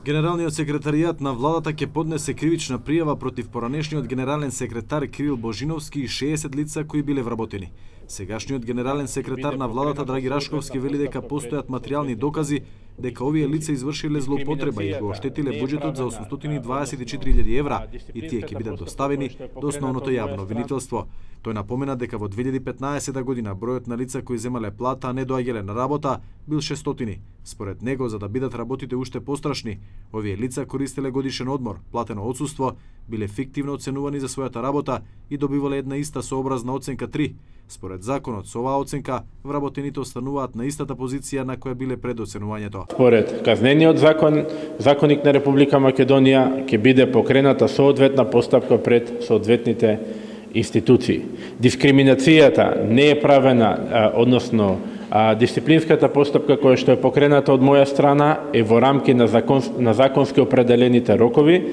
Генералниот секретаријат на владата ќе поднесе кривична пријава против поранешниот генерален секретар Кирил Божиновски и 60 лица кои биле вработени. Сегашниот генерален секретар на владата Драги Рашковски вели дека постојат материјални докази дека овие лица извршиле злоупотреба и го оштетиле буџетот за 824.000 евра и тие ќе бидат доставени до основното јавно обвинителство. Тој напомена дека во 2015 година бројот на лица кои земале плата, а не доаѓале на работа, бил 600. Според него, за да бидат работите уште пострашни, овие лица користеле годишен одмор, платено отсуство, биле фиктивно оценувани за својата работа и добивале една иста сообразна оценка 3. Според законот, со оваа оценка, вработените остануваат на истата позиција на која биле пред оценувањето. Според казнениот законник на Република Македонија ќе биде покрената соодветна постапка пред соодветните институции. Дискриминацијата не е правена, односно дисциплинската постапка која што е покрената од моја страна е во рамки на законски определените рокови.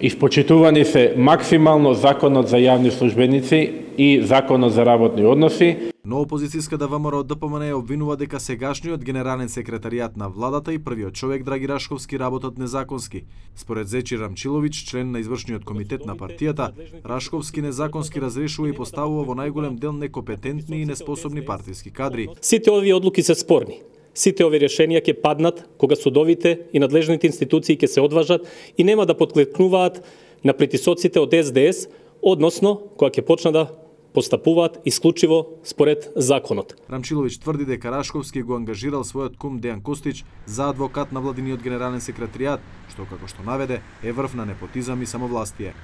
Испочитувани се максимално законот за јавни службеници и законот за работни односи. Но опозицијската ВМРО ДПМН ја обвинува дека сегашниот генерален секретаријат на владата и првиот човек Драги Рашковски работат незаконски. Според Зечир Рамчилович, член на извршниот комитет на партијата, Рашковски незаконски разрешува и поставува во најголем дел некомпетентни и неспособни партиски кадри. Сите овие одлуки се спорни. Сите овие решенија ќе паднат кога судовите и надлежните институции ќе се одважат и нема да подклекнуваат на притисоците од СДС, односно кога ќе почнат да постапуваат исклучиво според законот. Рамчилович тврди дека Рашковски го ангажирал својот кум Дејан Костич за адвокат на владиниот генерален секретаријат, што како што наведе е врв на непотизам и самовластие.